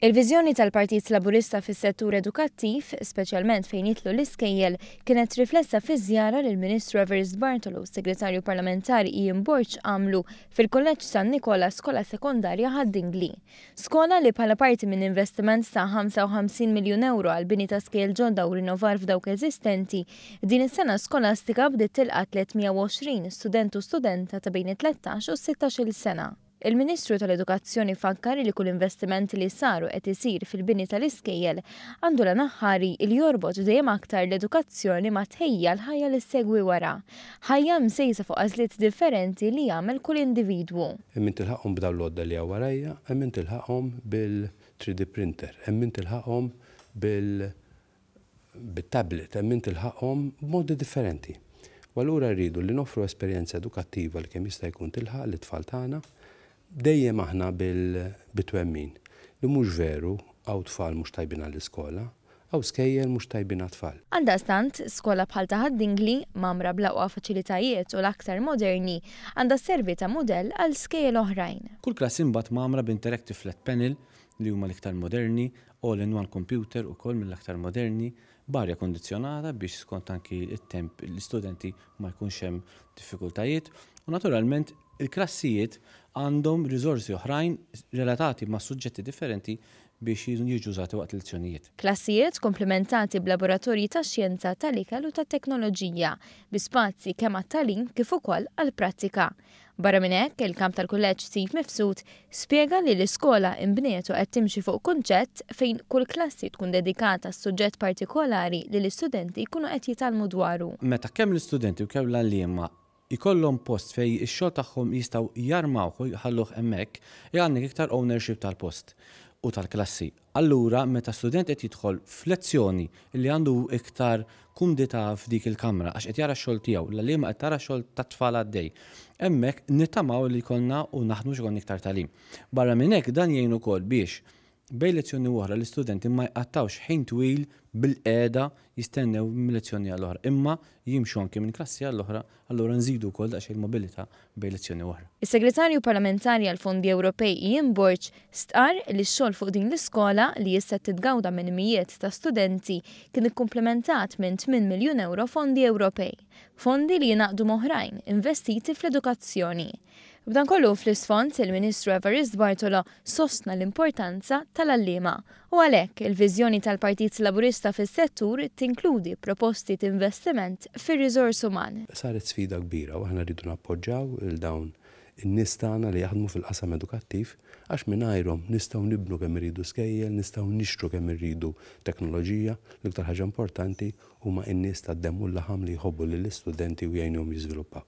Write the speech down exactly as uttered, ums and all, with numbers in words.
Il-viżjoni tal-Partit Laburista fis-settur edukattiv, speċjalment fejn jidħlu l-iskejjel, kienet riflessa fi żjara li l-Ministru Evarist Bartolo u s-Segretarju Parlamentari Ian Borg għamlu fil-Kulleġġ San Nikola, Skola Sekondarja Ħad-Dingli. Skola li bħala parti minn investiment ta' ħamsa u ħamsin miljun euro għal bini ta' skejjel ġodda u rinnovar f'dawk eżistenti, din is-sena skolastika bdiet tilqa' tliet mija u għoxrin student u studenta ta' bejn it-tlettax u sittax-il sena. Il-Ministru tal-Edukazzjoni fakkar li kull investiment li saru qed isir fil-bini tal-iskejjel għandu l-għan aħħari li jorbot dejjem aktar l-edukazzjoni ma' tħejja l-ħajja li segwi wara. Ħajja msejsa fuq għażliet differenti li jagħmel kull individwu. Hemm min tilħaqhom b'dawn l-għodda li hawn warajja, hemm min tilħaqhom bil-three D printer, hemm min tilħaqhom bil bit-tablet, hemm min tilħaqhom b'modi differenti. U allura rridu li noffru esperjenza edukattiva li kemm jista' jkun tilħaq lit-tfal tagħna. Dejjem aħna bil-twemmin li mhux veru hawn tfal mhux tajbin għall-iskola, hawn skejjel mhux tajbin għat-tfal. Għaldaqstant, skola bħal ta' Ħad-Dingli, mgħammra bl-aqwa faċilitajiet u l-aktar moderni, għandha sservi ta' mudell għal skejjel oħrajn. Kull klassi mbagħad mgħammra b'interactive flat panel li huma l-iktar moderni, all-in-one computer ukoll mill-aktar moderni, b'arja kondizjonata biex skont anki it-temp l-istudenti ma jkunx hemm diffikultajiet u naturalment il-klassijiet għandhom riżorsi oħrajn relatati ma' suġġetti differenti biex jiġu użati waqt lezzjonijiet. Klassijiet komplementati b'laboratorji ta' xjenza, tal-ikel u ta' teknoloġija, bi spazji kemm għat-tagħlim kif ukoll għall-prattika. Barra minn hekk, il-kamp tal-kulleġġ Steve Mifsud spjega li l-iskola imbniet u qed timxi fuq kunċett fejn kull klassi tkun dedikata suġġett partikolari li l-istudenti jkunu qed jitgħallmu dwaru. Meta kemm l-istudenti u kemm l-għalliema ikollhom post fej ix-xogħol tagħhom jistgħu jarmawh u jħalluh hemmhekk, għandek iktar ownership tal-post u tal-klassi. Allura, meta student qed jidħol f'lezzjoni li għandu iktar kumdità f'dik il-kamra għax qed jara x-xogħol tiegħu, l-għalliema qed tara x-xogħol tat-tfal għaddej. Hemmhekk nittamaw li jkollna u naħdmu x'ikun iktar tagħlim. Barra minn hekk, dan jgħin ukoll biex bejn lezzjoni u oħra l-istudenti ma jqattawx ħin twil bil-qiegħda jistennew minn lezzjoni għall-oħra, imma jimxu anke minn klassi għall-oħra, allura nżidu wkoll daqsxejn mobilità bejn lezzjoni oħra. Is-Segretarju Parlamentari għal Fondi Ewropej Ian Borg stqar li x-xogħol fuq din l-iskola, li issa titgawda minn mijiet ta' studenti, kien ikkumplementat minn tmien miljun euro fondi Ewropej, fondi li jingħaqdu m'oħrajn investiti fl-edukazzjoni. B'dan kollu fl-isfond, il-Ministru Evarist Bartolo sostna l-importanza tal-għalliema u għalhekk il-viżjoni tal-Partit Laburista fis-settur tinkludi proposti investiment fir-riżors uman. Saret sfida kbira u aħna rridu nappoġġaw lil dawn in-nies tagħna li jaħdmu fil-qasam edukattiv, għax mingħajrhom nistgħu nibnu kemm irridu skejjel, nistgħu nixtru kemm irridu teknoloġija, l-iktar ħaġa importanti huma n-nies tad-demm u l-laħam li jħobbu lill-istudenti u jgħinuhom jiżviluppaw.